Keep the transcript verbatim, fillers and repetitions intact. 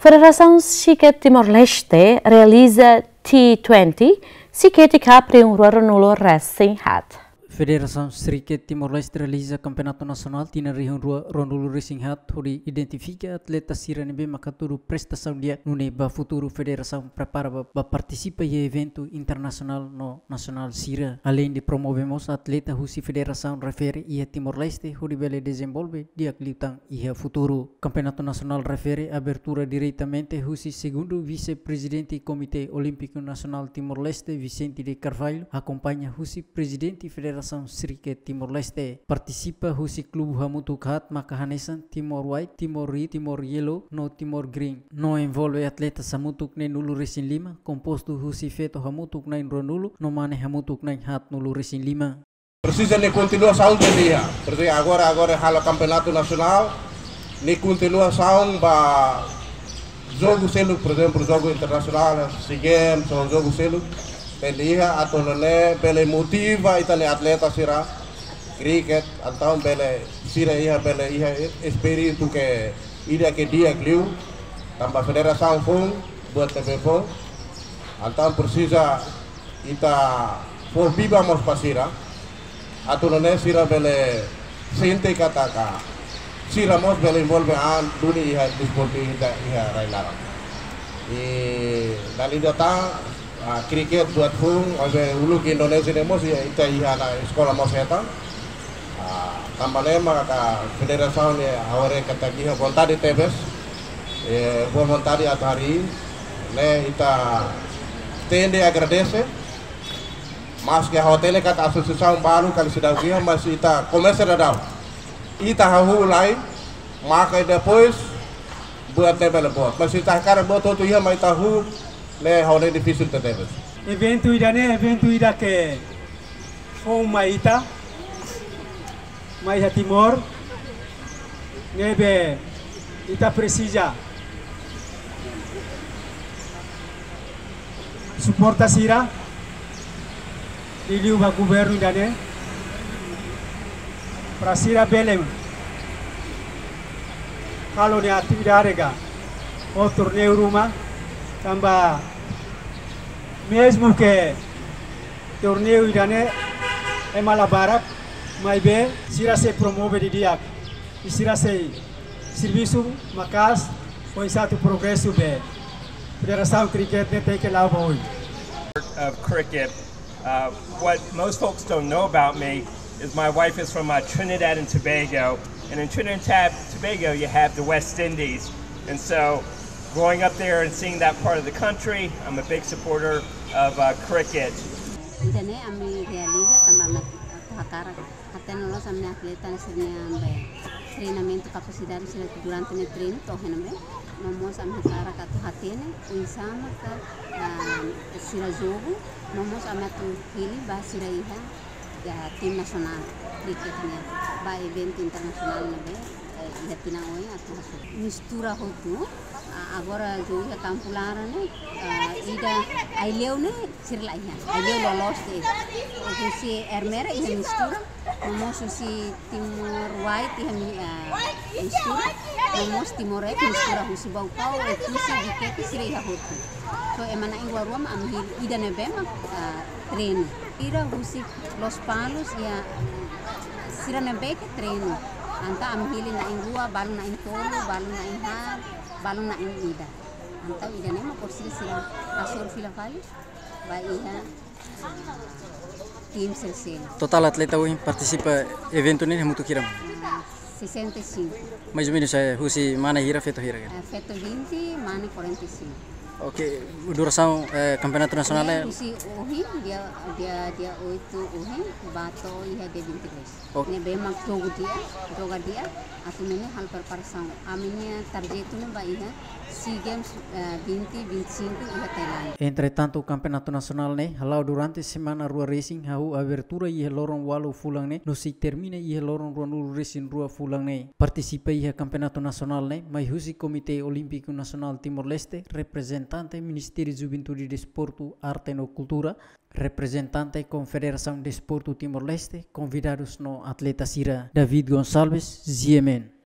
Federasaun Xikét Timor-Leste realiza T twenty Xikét Cup rihun rua ruanulu resin haat. Federasaun Xikét Timor-Leste realiza Kampeonatu Nasionál tinan rihun rua ruanulu resin haat hodi identifika atleta sira ne'ebé mak hatudu prestasaun di'ak nune'e ba futuru federasaun prepara ba, ba partisipa iha eventu internasionál no nasionál sira. Aleinde promove mós atleta husi federasaun refere iha Timor-Leste hodi bele dezenvolve di'ak liután iha futuru. Kampeonatu Nasionál refere abertura diretamente husi Segundu Vise-Prezidente Komité Olímpiku Nasionál Timor-Leste, Vicente de Carvalho, akompaña husi Prezidente Federasaun Xikét Timor-Leste. Partisipa husi klube hamutuk haat maka hanesan Timor White, Timor Red, Timor Yellow no Timor Green. No envolve atleta hamutuk neen-nulu resin lima, kompostu husi feto hamutuk na'in-ruanulu no mane hamutuk na'in-haatnulu resin lima. Presiza nia kontinuasaun de'it iha. Porezemplu, agora, agora halo kampeonatu nasionál, nia kontinuasaun ba jogu seluk, porezemplu, jogu internasionál, SEA Games, ou jogu seluk, tenke iha atu nune'e bele motiva ita-nia atleta sira kriket, entaun bele sira iha, bele iha espíritu ke ida ke di'ak liu, tanba federasaun foun, buat ne'ebé foun, entaun presiza ita fó biba mós ba sira, atu nune'e sira bele sente katak sira mós bele envolve an duni iha desportu ita iha rai-laran. I dala ida tan, ah, kriket buat foun, maibé uluk Indonézia ne'e mós iha, ita iha ona eskola mós hetan. Ah, tanba ne'e maka federasaun ne'e ha'u haree katak iha vontade tebes, eh, boa vontade atu harii, ne'e ita tenke agradese, maske ha'u hatene katak asosiasaun balu kali seidauk iha, mas ita komesa daudaun. Ita hahú lai, maka depois buat ne'e bele boot. Mas ita hakarak buat hotu iha, mas ita hahú, ne'e ha'u haree difisil tebes. Eventu ida-ne'e, eventu ida ke foun mai ita, mai iha Timor, ne'ebé ita presiza suporta sira, liuliu ba governu ida-ne'e, para sira bele halo nia atividade ka ho torneiu ruma, tanba mezmu ke torneiu ida-ne'e ema la barak, maibé sira sei promove didi'ak. I sira sei servisu maka'as, oinsá atu progresu be federasaun kriket ne'e tenke la'o ba oin. Of cricket. Uh, what most folks don't know about me is my wife is from, uh, Trinidad and Tobago. And in Trinidad and Tobago, you have the West Indies. And so, growing up there and seeing that part of the country, I'm a big supporter of, uh, cricket. Ida-ne'e ami realiza tanba ami atu hakarak hatene loos ami-nia atleta sira-nia be treinamentu, kapasidade sira durante nia treinu to'o iha ne'ebé. No mós ami hakarak atu hatene oinsá maka, ah, sira jogu, no mós ami atu hili ba sira iha, iha tim nasionál kriket nian ba eventu internasionál ne'ebé, eh, iha tinan oin atu hasoru. Mistura hotu, ah, agora jogu iha kampu laran ne'e, ah, ida Aileu ne'e sira la iha. Aileu loloos de'it. Husi Ermera iha mistura, no mós husi Timor White iha mi-, ah, mistura, no mós Timor Red mistura, husi Baucau, Oe-Kusi, Viqueque sira iha hotu. So, ema na'in-rua-rua mak ami hili, ida ne'ebé mak, ah, treinu. Sira husi Lospalos iha, sira ne'ebé ke treinu. Entaun ami hili na'in-rua, balu na'in-tolu, balu na'in-haat, balu na'in-ida. Entaun ida-ne'e mak presiza sira hasoru fila fali ba iha, ah, tim selesema. Totál atleta ohin partisipa eventu ne'e hamutuk hira? Ah, sessenta e cinco. Mais ou menos, eh, husi mane hira, feto hira, kan? Ah, feto vinte, mane quarenta e cinco. Ok, durasaun, eh, kampeonatu nasionál ne'e? Husi ohin, dia, dia, dia oito ohin, ba to'o iha dia vinte e dois. Ok. Ne'ebé mak jogu di'ak, joga di'ak, atu nune'e halo preparasaun. Ami-nia target ne'e ba iha SEA Games, eh, vinte vinte e cinco iha Tailándia. Entretantu, kampeonatu nasionál ne'e hala'o durante semana rua resin, hahú abertura iha loron ualu fulan ne'e, no sei termina iha loron ruanulu resin rua fulan ne'e. Partisipa iha kampeonatu nasionál ne'e, mai husi Komité Olímpiku Nasionál Timor-Leste, reprezentante Ministériu Juventude, Desportu, Arte no Kultura, reprezentante Konfederasaun Desportu Timor-Leste, konvidadus no atleta sira. David Gonçalves, G M N.